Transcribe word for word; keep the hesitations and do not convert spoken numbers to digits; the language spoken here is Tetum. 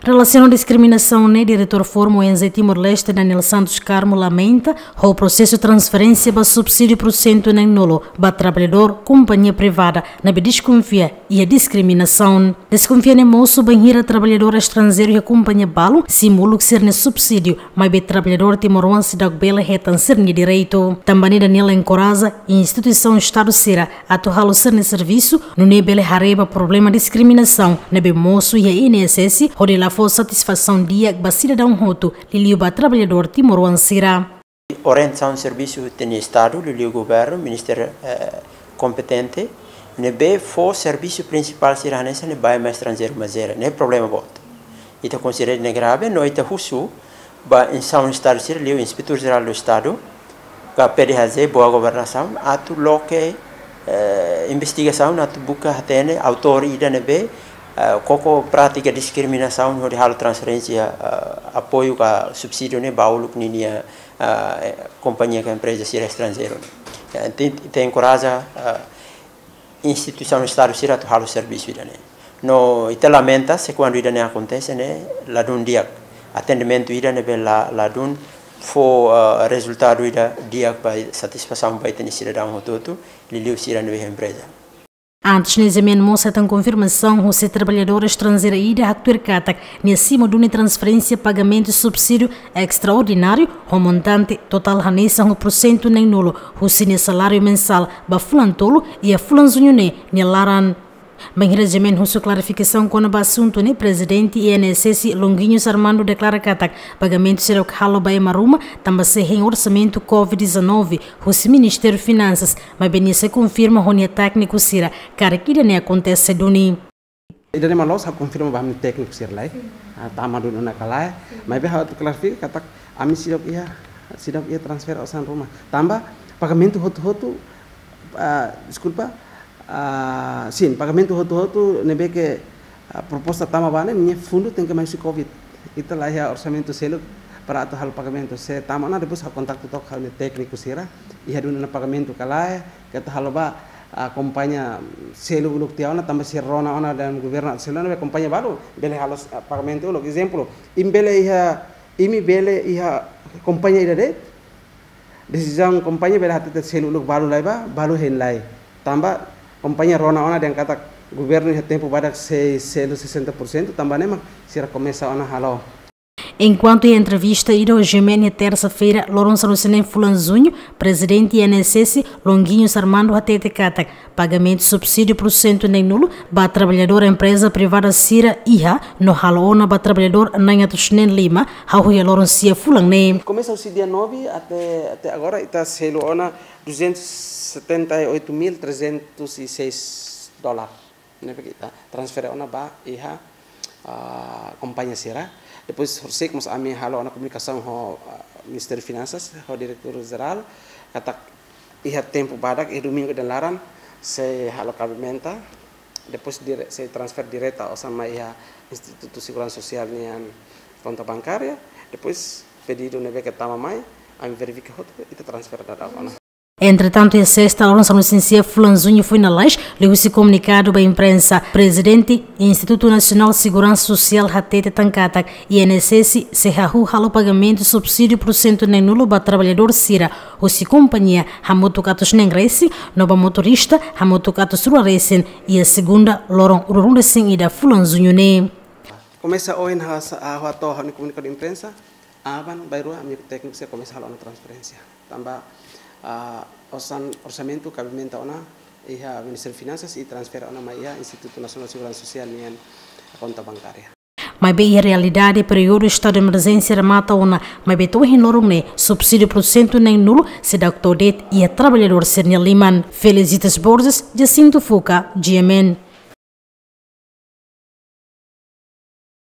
Relasiona ho diskriminasaun ne'e, Diretór Forum ONG Timor-Leste, Daniel Santos Carmo, lamenta ho prosesu transferénsia ba subsídiu pursentu neen-nulu ba traballadór kompañia privada ne'ebé deskonfia iha diskriminasaun. Deskonfia ne'e mosu bainhira traballadór estranjeiru iha kompañia balu simu uluk sira-nia subsídiu, maibé traballadór timoroan seidauk bele hetan sira-nia direitu. Tanba ne'e Daniel enkoraja instituisaun Estadu sira atu halo sira-nia servisu, nune'e bele haree ba problema diskriminasaun ne'ebé mosu iha I N S S, hodi la fó satisfasaun di'ak ba sidadaun hotu, liuliu ba traballadór timoroan sira. Orientasaun servisu ita-nia Estadu, liuliu governu, ministériu, eh, kompetente, ne'ebé fó servisu prinsipál sira hanesan ne'e ba ema estranjeiru mak jere, ne'e problema boot. Ita konsidera ne'e grave, no ita husu ba instituisaun Estadu sira, liuliu Inspetór Jerál do Estadu, ka P D H J, Boa Governasaun, atu loke, eh, investigasaun, atu buka hatene autór ida ne'ebé, eh, koko prátika diskriminasaun hodi halo transferénsia, eh, apoiu ka subsídiu ne'e ba uluk ninia, eh, kompañia ka empreza sira estranjeiru ne'e. Ya, ita, ita enkoraja, eh, instituisaun Estadu sira atu halo servisu ida-ne'e. No ita lamenta se kuandu ida-ne'e akontese ne'e ladún di'ak. Atendimentu ida ne'ebé la, ladún fó, eh, rezultadu ida di'ak ba satisfasaun ba ita-nia sidadaun hotu-hotu, liuliu sira ne'ebé iha empreza. Antes ne'e G M N mós hetan konfirmasaun husi traballadór estranjeira ida haktuir katak nia simu duni transferénsia pagamentu subsídiu estraordináriu ho montante totál hanesan ho pursentu neen-nulu husi nia saláriu mensál ba fulan tolu iha fulan Juñu ne'e nia laran. Bainhira G M N husu klarifikasaun kona-ba asuntu ne'e, Prezidente I N S S Longuinhos Armando deklara katak pagamentu seidauk halo ba ema ruma tanba sei hein orsamentu covid dezanove husi Ministériu Finansas, maibé nia sei konfirma ho nia tékniku sira karik ida-ne'e akontese duni. Ida-ne'e mak loos, ha'u konfirma ba ami tékniku sira lai. Ah, tama duni ona ka lae. Maibé ha'u atu klarifika katak ami seidauk iha, seidauk iha transfere osan ruma. Tanba pagamentu hotu-hotu, ah, deskulpa, ah, sin, pagamentu hotu-hotu ne'ebé ke, ah, proposta tama ba ne'e, nia fundu tenke mai husi covid. Ita la iha orsamentu seluk para atu halo pagamentu. Se tama ona, depois ha'u kontaktu took ho nia tékniku sira. Iha duni ona pagamentu ka lae, keta halo ba, ah, kompañia selu uluk tiha ona, tanba sira rona ona dehan governu atu selu ona, be kompañia balu bele halo, ah, pagamentu uluk. Ezemplu, imi bele iha, imi bele iha kompañia ida de'it, desizaun kompañia bele hatete selu uluk balu lai ba, balu hein lai. Tanba kompañia rona ona dehan katak governu iha tempu badak sei selu sesenta pursentu, tanba ne'e mak sira komesa ona halo. Enkuantu iha entrevista ida ho G M N iha tersa-feira, loron sanulu-resin-neen fulan Juñu, Prezidente I N S S Longuinhos Armando hatete katak pagamentu subsídiu pursentu neen-nulu ba traballadór empreza privada sira iha no halo ona ba traballadór neen atus neen lima, hahú iha loron sia fulan ne'e. Komesa husi dia nove até, até agora, ita selu ona duzentos e setenta e oito mil trezentos e seis dólar. Ne'ebé ke ita transfere ona ba iha, ah, kompañia sira. Depois, horisehik mós ami halo ona komunikasaun ho, ah, Ministériu Finansas, ho Diretór Jerál, katak iha tempu badak, iha domingu ida-ne'e laran, sei halo kabimenta, depois dire-, sei transfere direta osan mai iha Institutu Seguransa Sosiál nian konta bankária, depois pedidu ne'ebé ke tama mai, ami verifika hotu, ita transfere daudaun ona. Entretantu, iha sesta, loron sanulu-resin-sia fulan Juñu foin lalais, liuhusi komunikadu ba imprensa, Prezidente Institutu Nasionál Seguransa Sosiál hatete tan katak I N S S sei hahú halo pagamentu subsídiu pursentu neen-nulu ba traballadór sira husi kompañia hamutuk atus neen resin, no ba motorista hamutuk atus rua resin, iha segunda, loron ruanulu-resin-ida fulan Juñu ne'e. Komesa ohin ha'u sa-, ha'u hato'o ha'u-nia komunikadu imprensa, aban-bainrua ami tékniku sira komesa halo ona transferénsia. Tanba, ah, osan, orsamentu kabimenta ona iha Ministériu Finansas i transfere ona mai iha Institutu Nasionál Seguransa Sosiál nian konta bankária. Maibé iha realidade, períodu estadu de emerjénsia remata ona, maibé to'o ohin loron ne'e subsídiu pursentu neen-nulu seidauk to'o de'it iha traballadór sira-nia liman. Felicitas Borges, Jacinto Fuca, G M N.